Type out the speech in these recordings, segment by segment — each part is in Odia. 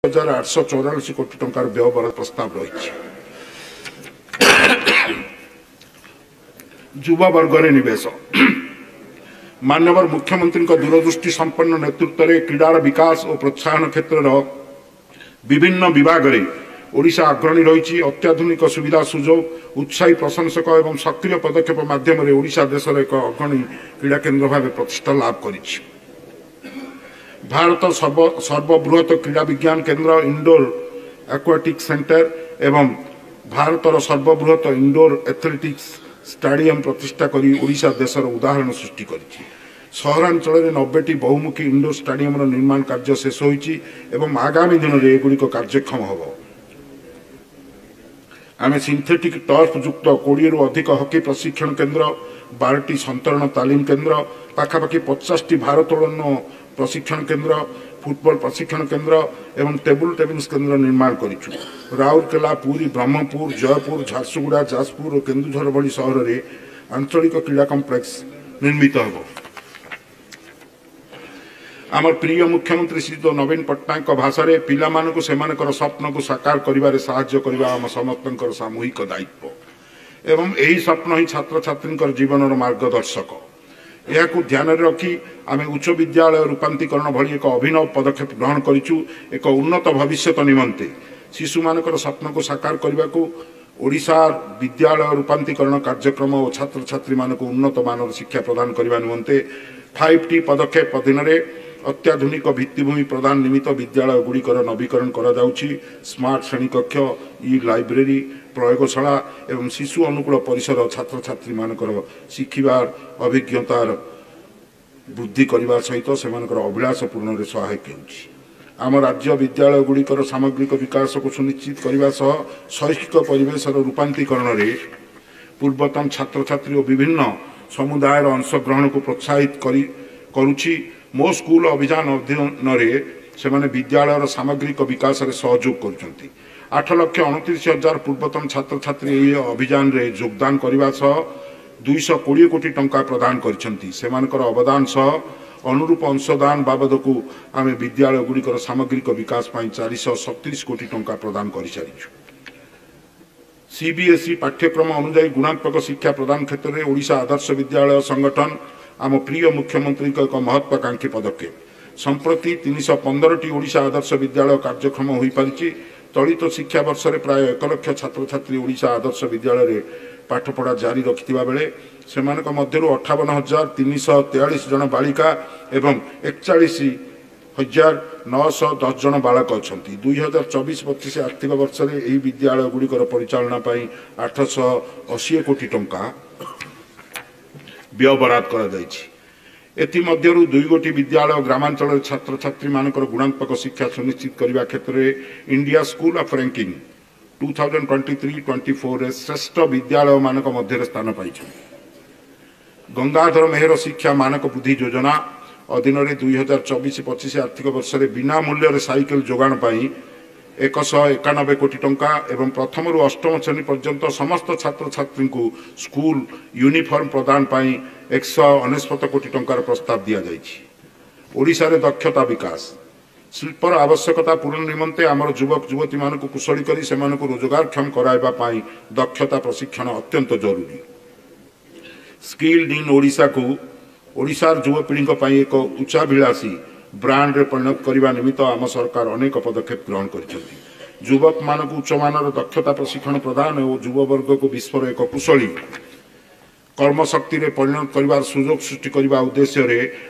844 କୋଟି ଟଙ୍କାର ବ୍ୟୟବରାଦ ପ୍ରସ୍ତାବ ରହିଛି। ଯୁବବର୍ଗରେ ନିବେଶ। ମାନ୍ୟବର ମୁଖ୍ୟମନ୍ତ୍ରୀଙ୍କ ଦୂରଦୃଷ୍ଟି ସମ୍ପନ୍ନ ନେତୃତ୍ୱରେ କ୍ରୀଡ଼ାର ବିକାଶ ଓ ପ୍ରୋତ୍ସାହନ କ୍ଷେତ୍ରର ବିଭିନ୍ନ ବିଭାଗରେ ଓଡ଼ିଶା ଅଗ୍ରଣୀ ରହିଛି। ଅତ୍ୟାଧୁନିକ ସୁବିଧା ସୁଯୋଗ, ଉତ୍ସାହୀ ପ୍ରଶଂସକ ଏବଂ ସକ୍ରିୟ ପଦକ୍ଷେପ ମାଧ୍ୟମରେ ଓଡ଼ିଶା ଦେଶର ଏକ ଅଗ୍ରଣୀ କ୍ରୀଡ଼ା କେନ୍ଦ୍ର ଭାବେ ପ୍ରତିଷ୍ଠା ଲାଭ କରିଛି। ଭାରତ ସର୍ବବୃହତ କ୍ରୀଡ଼ା ବିଜ୍ଞାନ କେନ୍ଦ୍ର, ଇନଡୋର ଆକ୍ୱାଟିକ୍ ସେଣ୍ଟର ଏବଂ ଭାରତର ସର୍ବବୃହତ ଇନଡୋର ଆଥଲେଟିକ୍ସ ଷ୍ଟାଡିୟମ ପ୍ରତିଷ୍ଠା କରି ଓଡ଼ିଶା ଦେଶର ଉଦାହରଣ ସୃଷ୍ଟି କରିଛି। ସହରାଞ୍ଚଳରେ 90ଟି ବହୁମୁଖୀ ଇନଡୋର ଷ୍ଟାଡିୟମର ନିର୍ମାଣ କାର୍ଯ୍ୟ ଶେଷ ହୋଇଛି ଏବଂ ଆଗାମୀ ଦିନରେ ଏଗୁଡ଼ିକ କାର୍ଯ୍ୟକ୍ଷମ ହେବ। ଆମେ ସିନ୍ଥେଟିକ୍ ଟର୍ଫ ଯୁକ୍ତ 20ରୁ ଅଧିକ ହକି ପ୍ରଶିକ୍ଷଣ କେନ୍ଦ୍ର, 12ଟି ସନ୍ତରଣ ତାଲିମ କେନ୍ଦ୍ର, ପାଖାପାଖି 50ଟି ଭାରୋତ୍ତୋଳନ ପ୍ରଶିକ୍ଷଣ କେନ୍ଦ୍ର, ଫୁଟବଲ ପ୍ରଶିକ୍ଷଣ କେନ୍ଦ୍ର ଏବଂ ଟେବୁଲ ଟେନିସ୍ କେନ୍ଦ୍ର ନିର୍ମାଣ କରିଛୁ। ରାଉରକେଲା, ପୁରୀ, ବ୍ରହ୍ମପୁର, ଜୟପୁର, ଝାରସୁଗୁଡ଼ା, ଯାଜପୁର ଓ କେନ୍ଦୁଝର ଭଳି ସହରରେ ଆଞ୍ଚଳିକ କ୍ରୀଡ଼ା କମ୍ପ୍ଲେକ୍ସ ନିର୍ମିତ ହେବ। ଆମର ପ୍ରିୟ ମୁଖ୍ୟମନ୍ତ୍ରୀ ଶ୍ରୀଯୁକ୍ତ ନବୀନ ପଟ୍ଟନାୟକଙ୍କ ଭାଷାରେ, ପିଲାମାନଙ୍କୁ ସେମାନଙ୍କର ସ୍ୱପ୍ନକୁ ସାକାର କରିବାରେ ସାହାଯ୍ୟ କରିବା ଆମ ସମସ୍ତଙ୍କର ସାମୂହିକ ଦାୟିତ୍ୱ ଏବଂ ଏହି ସ୍ୱପ୍ନ ହିଁ ଛାତ୍ରଛାତ୍ରୀଙ୍କର ଜୀବନର ମାର୍ଗଦର୍ଶକ। ଏହାକୁ ଧ୍ୟାନରେ ରଖି ଆମେ ଉଚ୍ଚ ବିଦ୍ୟାଳୟ ରୂପାନ୍ତରୀକରଣ ଭଳି ଏକ ଅଭିନବ ପଦକ୍ଷେପ ଗ୍ରହଣ କରିଛୁ। ଏକ ଉନ୍ନତ ଭବିଷ୍ୟତ ନିମନ୍ତେ ଶିଶୁମାନଙ୍କର ସ୍ୱପ୍ନକୁ ସାକାର କରିବାକୁ ଓଡ଼ିଶା ବିଦ୍ୟାଳୟ ରୂପାନ୍ତରୀକରଣ କାର୍ଯ୍ୟକ୍ରମ ଓ ଛାତ୍ରଛାତ୍ରୀମାନଙ୍କୁ ଉନ୍ନତ ମାନର ଶିକ୍ଷା ପ୍ରଦାନ କରିବା ନିମନ୍ତେ 5ଟି ପଦକ୍ଷେପ ଅଧୀନରେ ଅତ୍ୟାଧୁନିକ ଭିତ୍ତିଭୂମି ପ୍ରଦାନ ନିମିତ୍ତ ବିଦ୍ୟାଳୟଗୁଡ଼ିକର ନବୀକରଣ କରାଯାଉଛି। ସ୍ମାର୍ଟ ଶ୍ରେଣୀକକ୍ଷ, ଇ ଲାଇବ୍ରେରୀ, ପ୍ରୟୋଗଶାଳା ଏବଂ ଶିଶୁ ଅନୁକୂଳ ପରିସର ଛାତ୍ରଛାତ୍ରୀମାନଙ୍କର ଶିଖିବାର ଅଭିଜ୍ଞତାର ବୃଦ୍ଧି କରିବା ସହିତ ସେମାନଙ୍କର ଅଭିଳାଷ ପୂରଣରେ ସହାୟକ ହେଉଛି। ଆମ ରାଜ୍ୟ ବିଦ୍ୟାଳୟଗୁଡ଼ିକର ସାମଗ୍ରିକ ବିକାଶକୁ ସୁନିଶ୍ଚିତ କରିବା ସହ ଶୈକ୍ଷିକ ପରିବେଶର ରୂପାନ୍ତରୀକରଣରେ ପୂର୍ବତନ ଛାତ୍ରଛାତ୍ରୀ ଓ ବିଭିନ୍ନ ସମୁଦାୟର ଅଂଶଗ୍ରହଣକୁ ପ୍ରୋତ୍ସାହିତ କରି କରୁଛି। ମୋ ସ୍କୁଲ ଅଭିଯାନ ଅଧୀନରେ ସେମାନେ ବିଦ୍ୟାଳୟର ସାମଗ୍ରିକ ବିକାଶରେ ସହଯୋଗ କରୁଛନ୍ତି। 8,29,000 ପୂର୍ବତନ ଛାତ୍ରଛାତ୍ରୀ ଏହି ଅଭିଯାନରେ ଯୋଗଦାନ କରିବା ସହ 220 କୋଟି ଟଙ୍କା ପ୍ରଦାନ କରିଛନ୍ତି। ସେମାନଙ୍କର ଅବଦାନ ସହ ଅନୁରୂପ ଅଂଶଦାନ ବାବଦକୁ ଆମେ ବିଦ୍ୟାଳୟଗୁଡ଼ିକର ସାମଗ୍ରିକ ବିକାଶ ପାଇଁ 437 କୋଟି ଟଙ୍କା ପ୍ରଦାନ କରିସାରିଛୁ। ସିବିଏସ୍ଇ ପାଠ୍ୟକ୍ରମ ଅନୁଯାୟୀ ଗୁଣାତ୍ମକ ଶିକ୍ଷା ପ୍ରଦାନ କ୍ଷେତ୍ରରେ ଓଡ଼ିଶା ଆଦର୍ଶ ବିଦ୍ୟାଳୟ ସଂଗଠନ ଆମ ପ୍ରିୟ ମୁଖ୍ୟମନ୍ତ୍ରୀଙ୍କ ଏକ ମହତ୍ୱାକାଂକ୍ଷୀ ପଦକ୍ଷେପ। ସମ୍ପ୍ରତି 315ଟି ଓଡ଼ିଶା ଆଦର୍ଶ ବିଦ୍ୟାଳୟ କାର୍ଯ୍ୟକ୍ଷମ ହୋଇପାରିଛି। ଚଳିତ ଶିକ୍ଷାବର୍ଷରେ ପ୍ରାୟ 1 ଲକ୍ଷ ଛାତ୍ରଛାତ୍ରୀ ଓଡ଼ିଶା ଆଦର୍ଶ ବିଦ୍ୟାଳୟରେ ପାଠପଢ଼ା ଜାରି ରଖିଥିବା ବେଳେ ସେମାନଙ୍କ ମଧ୍ୟରୁ 58,343 ଜଣ ବାଳିକା ଏବଂ 41,910 ଜଣ ବାଳକ ଅଛନ୍ତି। 2024-25 ଆର୍ଥିକ ବର୍ଷରେ ଏହି ବିଦ୍ୟାଳୟଗୁଡ଼ିକର ପରିଚାଳନା ପାଇଁ 880 କୋଟି ଟଙ୍କା ବ୍ୟୟବରାଦ କରାଯାଇଛି। ଏଥିମଧ୍ୟରୁ 2 ଗୋଟି ବିଦ୍ୟାଳୟ ଗ୍ରାମାଞ୍ଚଳରେ ଛାତ୍ରଛାତ୍ରୀମାନଙ୍କର ଗୁଣାତ୍ମକ ଶିକ୍ଷା ସୁନିଶ୍ଚିତ କରିବା କ୍ଷେତ୍ରରେ ଇଣ୍ଡିଆ ସ୍କୁଲ ଅଫ୍ ରାଙ୍କିଙ୍ଗ 2023-24ରେ ଶ୍ରେଷ୍ଠ ବିଦ୍ୟାଳୟମାନଙ୍କ ମଧ୍ୟରେ ସ୍ଥାନ ପାଇଛନ୍ତି। ଗଙ୍ଗାଧର ମେହେର ଶିକ୍ଷା ମାନକ ବୃଦ୍ଧି ଯୋଜନା ଅଧୀନରେ 2024-25 ଆର୍ଥିକ ବର୍ଷରେ ବିନା ମୂଲ୍ୟରେ ସାଇକେଲ ଯୋଗାଣ ପାଇଁ 191 କୋଟି ଟଙ୍କା ଏବଂ ପ୍ରଥମରୁ ଅଷ୍ଟମ ଶ୍ରେଣୀ ପର୍ଯ୍ୟନ୍ତ ସମସ୍ତ ଛାତ୍ରଛାତ୍ରୀଙ୍କୁ ସ୍କୁଲ ୟୁନିଫର୍ମ ପ୍ରଦାନ ପାଇଁ 199 କୋଟି ଟଙ୍କାର ପ୍ରସ୍ତାବ ଦିଆଯାଇଛି। ଓଡ଼ିଶାରେ ଦକ୍ଷତା ବିକାଶ। ଶିଳ୍ପର ଆବଶ୍ୟକତା ପୂରଣ ନିମନ୍ତେ ଆମର ଯୁବକ ଯୁବତୀମାନଙ୍କୁ କୁଶଳୀ କରି ସେମାନଙ୍କୁ ରୋଜଗାରକ୍ଷମ କରାଇବା ପାଇଁ ଦକ୍ଷତା ପ୍ରଶିକ୍ଷଣ ଅତ୍ୟନ୍ତ ଜରୁରୀ। ସ୍କିଲ୍ଡ ଇନ୍ ଓଡ଼ିଶାକୁ ଓଡ଼ିଶାର ଯୁବପିଢ଼ିଙ୍କ ପାଇଁ ଏକ ଉଚ୍ଚାଭିଳାଷୀ ବ୍ରାଣ୍ଡରେ ପରିଣତ କରିବା ନିମିତ୍ତ ଆମ ସରକାର ଅନେକ ପଦକ୍ଷେପ ଗ୍ରହଣ କରିଛନ୍ତି। ଯୁବକମାନଙ୍କୁ ଉଚ୍ଚମାନର ଦକ୍ଷତା ପ୍ରଶିକ୍ଷଣ ପ୍ରଦାନ ଓ ଯୁବବର୍ଗକୁ ବିଶ୍ୱର ଏକ କୁଶଳୀ କର୍ମଶକ୍ତିରେ ପରିଣତ କରିବାର ସୁଯୋଗ ସୃଷ୍ଟି କରିବା ଉଦ୍ଦେଶ୍ୟରେ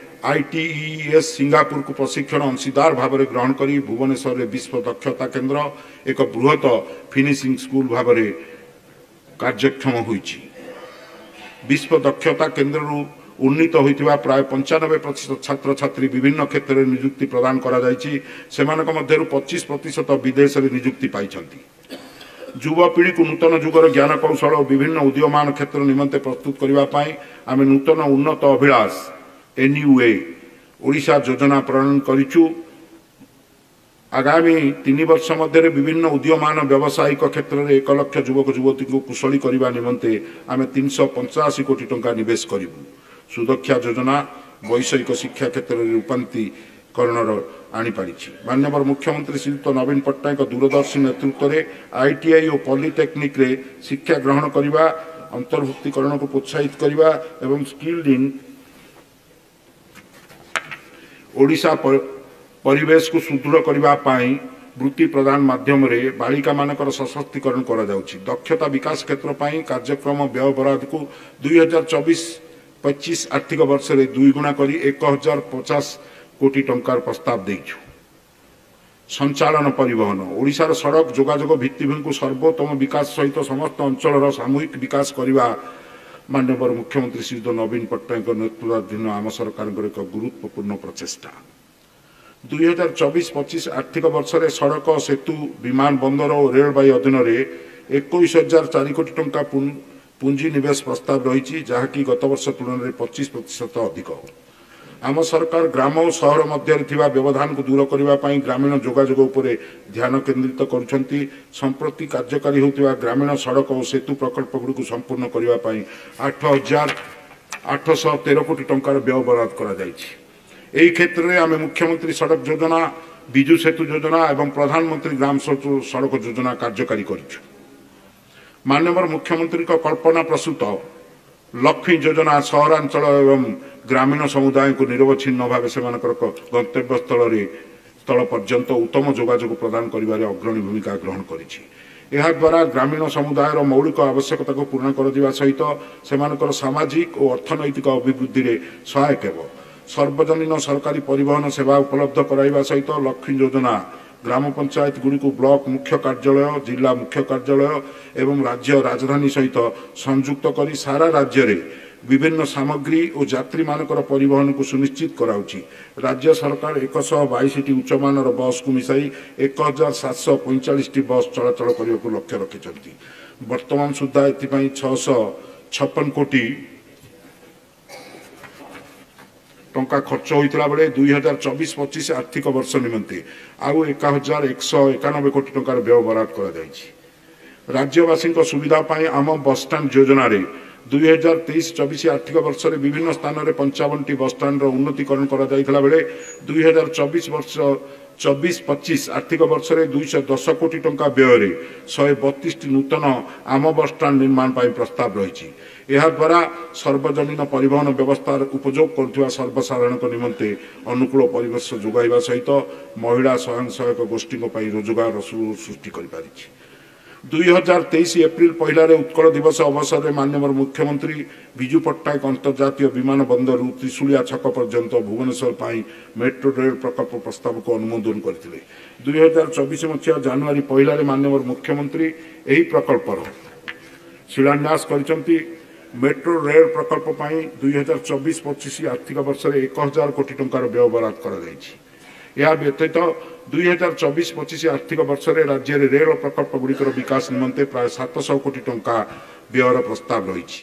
ଆଇଟିଇଏସ୍ ସିଙ୍ଗାପୁରକୁ ପ୍ରଶିକ୍ଷଣ ଅଂଶୀଦାର ଭାବରେ ଗ୍ରହଣ କରି ଭୁବନେଶ୍ୱରରେ ବିଶ୍ୱ ଦକ୍ଷତା କେନ୍ଦ୍ର ଏକ ବୃହତ ଫିନିସିଂ ସ୍କୁଲ ଭାବରେ କାର୍ଯ୍ୟକ୍ଷମ ହୋଇଛି। ବିଶ୍ୱ ଦକ୍ଷତା କେନ୍ଦ୍ରରୁ ଉନ୍ନୀତ ହୋଇଥିବା ପ୍ରାୟ 95% ଛାତ୍ରଛାତ୍ରୀ ବିଭିନ୍ନ କ୍ଷେତ୍ରରେ ନିଯୁକ୍ତି ପ୍ରଦାନ କରାଯାଇଛି। ସେମାନଙ୍କ ମଧ୍ୟରୁ 25% ବିଦେଶରେ ନିଯୁକ୍ତି ପାଇଛନ୍ତି। ଯୁବପିଢ଼ିକୁ ନୂତନ ଯୁଗର ଜ୍ଞାନକୌଶଳ ଓ ବିଭିନ୍ନ ଉଦୀୟମାନ କ୍ଷେତ୍ର ନିମନ୍ତେ ପ୍ରସ୍ତୁତ କରିବା ପାଇଁ ଆମେ ନୂତନ ଉନ୍ନତ ଅଭିଳାଷ ଏନ୍ୟୁଏ ଓଡ଼ିଶା ଯୋଜନା ପ୍ରଣୟନ କରିଛୁ। ଆଗାମୀ 3 ବର୍ଷ ମଧ୍ୟରେ ବିଭିନ୍ନ ଉଦୀୟମାନ ବ୍ୟବସାୟିକ କ୍ଷେତ୍ରରେ 1 ଲକ୍ଷ ଯୁବକ ଯୁବତୀଙ୍କୁ କୁଶଳୀ କରିବା ନିମନ୍ତେ ଆମେ 385 କୋଟି ଟଙ୍କା ନିବେଶ କରିବୁ। ସୁଦକ୍ଷା ଯୋଜନା ବୈଷୟିକ ଶିକ୍ଷା କ୍ଷେତ୍ରରେ ରୂପାନ୍ତରୀକରଣ କରଣର ଆଣିପାରିଛି। ମାନ୍ୟବର ମୁଖ୍ୟମନ୍ତ୍ରୀ ଶ୍ରୀଯୁକ୍ତ ନବୀନ ପଟ୍ଟନାୟକଙ୍କ ଦୂରଦର୍ଶୀ ନେତୃତ୍ୱରେ ଆଇଟିଆଇ ଓ ପଲିଟେକ୍ନିକ୍ରେ ଶିକ୍ଷା ଗ୍ରହଣ କରିବା, ଅନ୍ତର୍ଭୁକ୍ତୀକରଣକୁ ପ୍ରୋତ୍ସାହିତ କରିବା ଏବଂ ସ୍କିଲ୍ଡ ଇନ୍ ଓଡ଼ିଶା ପରିବେଶକୁ ସୁଦୃଢ଼ କରିବା ପାଇଁ ବୃତ୍ତି ପ୍ରଦାନ ମାଧ୍ୟମରେ ବାଳିକାମାନଙ୍କର ସଶକ୍ତିକରଣ କରାଯାଉଛି। ଦକ୍ଷତା ବିକାଶ କ୍ଷେତ୍ର ପାଇଁ କାର୍ଯ୍ୟକ୍ରମ ବ୍ୟୟ ବରାଦକୁ 2024-25 ଆର୍ଥିକ ବର୍ଷରେ ଦୁଇଗୁଣା କରି 1050 କୋଟି ଟଙ୍କାର ପ୍ରସ୍ତାବ ଦେଇଛୁ। ସଞ୍ଚାଳନ ପରିବହନ, ଓଡ଼ିଶାର ସଡ଼କ ଯୋଗାଯୋଗ ଭିତ୍ତିଭୂମିକୁ ସର୍ବୋତ୍ତମ ବିକାଶ ସହିତ ସମସ୍ତ ଅଞ୍ଚଳର ସାମୂହିକ ବିକାଶ କରିବା ମାନ୍ୟବର ମୁଖ୍ୟମନ୍ତ୍ରୀ ଶ୍ରୀଯୁକ୍ତ ନବୀନ ପଟ୍ଟନାୟକଙ୍କ ନେତୃତ୍ୱାଧୀନ ଆମ ସରକାରଙ୍କର ଏକ ଗୁରୁତ୍ୱପୂର୍ଣ୍ଣ ପ୍ରଚେଷ୍ଟା। 2024-25 ଆର୍ଥିକ ବର୍ଷରେ ସଡ଼କ, ସେତୁ, ବିମାନ ବନ୍ଦର ଓ ରେଳବାଇ ଅଧୀନରେ 21,004 କୋଟି ଟଙ୍କା ପୁଞ୍ଜି ନିବେଶ ପ୍ରସ୍ତାବ ରହିଛି, ଯାହାକି ଗତବର୍ଷ ତୁଳନାରେ 25% ଅଧିକ। ଆମ ସରକାର ଗ୍ରାମ ଓ ସହର ମଧ୍ୟରେ ଥିବା ବ୍ୟବଧାନକୁ ଦୂର କରିବା ପାଇଁ ଗ୍ରାମୀଣ ଯୋଗାଯୋଗ ଉପରେ ଧ୍ୟାନ କେନ୍ଦ୍ରିତ କରୁଛନ୍ତି। ସମ୍ପ୍ରତି କାର୍ଯ୍ୟକାରୀ ହେଉଥିବା ଗ୍ରାମୀଣ ସଡ଼କ ଓ ସେତୁ ପ୍ରକଳ୍ପଗୁଡ଼ିକୁ ସମ୍ପୂର୍ଣ୍ଣ କରିବା ପାଇଁ 8,813 କୋଟି ଟଙ୍କାର ବ୍ୟୟ ବରାଦ କରାଯାଇଛି। ଏହି କ୍ଷେତ୍ରରେ ଆମେ ମୁଖ୍ୟମନ୍ତ୍ରୀ ସଡ଼କ ଯୋଜନା, ବିଜୁ ସେତୁ ଯୋଜନା ଏବଂ ପ୍ରଧାନମନ୍ତ୍ରୀ ଗ୍ରାମ ସଡ଼କ ଯୋଜନା କାର୍ଯ୍ୟକାରୀ କରିଛୁ। ମାନ୍ୟବର ମୁଖ୍ୟମନ୍ତ୍ରୀଙ୍କ କଳ୍ପନା ପ୍ରସୂତ ଲକ୍ଷ୍ମୀ ଯୋଜନା ସହରାଞ୍ଚଳ ଏବଂ ଗ୍ରାମୀଣ ସମୁଦାୟଙ୍କୁ ନିରବଚ୍ଛିନ୍ନ ଭାବେ ସେମାନଙ୍କର ଗନ୍ତବ୍ୟସ୍ଥଳରେ ସ୍ଥଳ ପର୍ଯ୍ୟନ୍ତ ଉତ୍ତମ ଯୋଗାଯୋଗ ପ୍ରଦାନ କରିବାରେ ଅଗ୍ରଣୀ ଭୂମିକା ଗ୍ରହଣ କରିଛି। ଏହାଦ୍ୱାରା ଗ୍ରାମୀଣ ସମୁଦାୟର ମୌଳିକ ଆବଶ୍ୟକତାକୁ ପୂରଣ କରାଯିବା ସହିତ ସେମାନଙ୍କର ସାମାଜିକ ଓ ଅର୍ଥନୈତିକ ଅଭିବୃଦ୍ଧିରେ ସହାୟକ ହେବ। ସର୍ବଜନୀନ ସରକାରୀ ପରିବହନ ସେବା ଉପଲବ୍ଧ କରାଇବା ସହିତ ଲକ୍ଷ୍ମୀ ଯୋଜନା ଗ୍ରାମ ପଞ୍ଚାୟତଗୁଡ଼ିକୁ ବ୍ଲକ ମୁଖ୍ୟ କାର୍ଯ୍ୟାଳୟ, ଜିଲ୍ଲା ମୁଖ୍ୟ କାର୍ଯ୍ୟାଳୟ ଏବଂ ରାଜ୍ୟ ରାଜଧାନୀ ସହିତ ସଂଯୁକ୍ତ କରି ସାରା ରାଜ୍ୟରେ ବିଭିନ୍ନ ସାମଗ୍ରୀ ଓ ଯାତ୍ରୀମାନଙ୍କର ପରିବହନକୁ ସୁନିଶ୍ଚିତ କରାଉଛି। ରାଜ୍ୟ ସରକାର 122ଟି ଉଚ୍ଚମାନର ବସ୍କୁ ମିଶାଇ 1745ଟି ବସ୍ ଚଳାଚଳ କରିବାକୁ ଲକ୍ଷ୍ୟ ରଖିଛନ୍ତି। ବର୍ତ୍ତମାନ ସୁଦ୍ଧା ଏଥିପାଇଁ 656 କୋଟି ଟଙ୍କା ଖର୍ଚ୍ଚ ହୋଇଥିଲା ବେଳେ 2024-25 ଆର୍ଥିକ ବର୍ଷ ନିମନ୍ତେ ଆଉ 1191 କୋଟି ଟଙ୍କାର ବ୍ୟୟ ବରାଦ କରାଯାଇଛି। ରାଜ୍ୟବାସୀଙ୍କ ସୁବିଧା ପାଇଁ ଆମ ବସଷ୍ଟାଣ୍ଡ ଯୋଜନାରେ 2023-24 ଆର୍ଥିକ ବର୍ଷରେ ବିଭିନ୍ନ ସ୍ଥାନରେ 55ଟି ବସଷ୍ଟାଣ୍ଡର ଉନ୍ନତିକରଣ କରାଯାଇଥିଲା ବେଳେ 2024-25 ଆର୍ଥିକ ବର୍ଷରେ 210 କୋଟି ଟଙ୍କା ବ୍ୟୟରେ 132ଟି ନୂତନ ଆମ ବସଷ୍ଟାଣ୍ଡ ନିର୍ମାଣ ପାଇଁ ପ୍ରସ୍ତାବ ରହିଛି। ଏହାଦ୍ୱାରା ସର୍ବଜନୀନ ପରିବହନ ବ୍ୟବସ୍ଥାର ଉପଯୋଗ କରୁଥିବା ସର୍ବସାଧାରଣଙ୍କ ନିମନ୍ତେ ଅନୁକୂଳ ପରିବେଶ ଯୋଗାଇବା ସହିତ ମହିଳା ସ୍ୱୟଂ ସହାୟକ ଗୋଷ୍ଠୀଙ୍କ ପାଇଁ ରୋଜଗାର ସୃଷ୍ଟି କରିପାରିଛି। 2023 ଏପ୍ରିଲ 1ରେ ଉତ୍କଳ ଦିବସ ଅବସରରେ ମାନ୍ୟବର ମୁଖ୍ୟମନ୍ତ୍ରୀ ବିଜୁ ପଟ୍ଟନାୟକ ଅନ୍ତର୍ଜାତୀୟ ବିମାନ ବନ୍ଦରରୁ ତ୍ରିଶୁଳିଆ ଛକ ପର୍ଯ୍ୟନ୍ତ ଭୁବନେଶ୍ୱର ପାଇଁ ମେଟ୍ରୋ ରେଳ ପ୍ରକଳ୍ପ ପ୍ରସ୍ତାବକୁ ଅନୁମୋଦନ କରିଥିଲେ। 2024 ମସିହା ଜାନୁଆରୀ 1ରେ ମାନ୍ୟବର ମୁଖ୍ୟମନ୍ତ୍ରୀ ଏହି ପ୍ରକଳ୍ପର ଶିଳାନ୍ୟାସ କରିଛନ୍ତି। ମେଟ୍ରୋ ରେଳ ପ୍ରକଳ୍ପ ପାଇଁ 2024-25 ଆର୍ଥିକ ବର୍ଷରେ 1000 କୋଟି ଟଙ୍କାର ବ୍ୟୟ ବରାଦ କରାଯାଇଛି। ଏହା ବ୍ୟତୀତ 2024-25 ଆର୍ଥିକ ବର୍ଷରେ ରାଜ୍ୟରେ ରେଳ ପ୍ରକଳ୍ପଗୁଡ଼ିକର ବିକାଶ ନିମନ୍ତେ ପ୍ରାୟ 700 କୋଟି ଟଙ୍କା ବ୍ୟୟର ପ୍ରସ୍ତାବ ରହିଛି।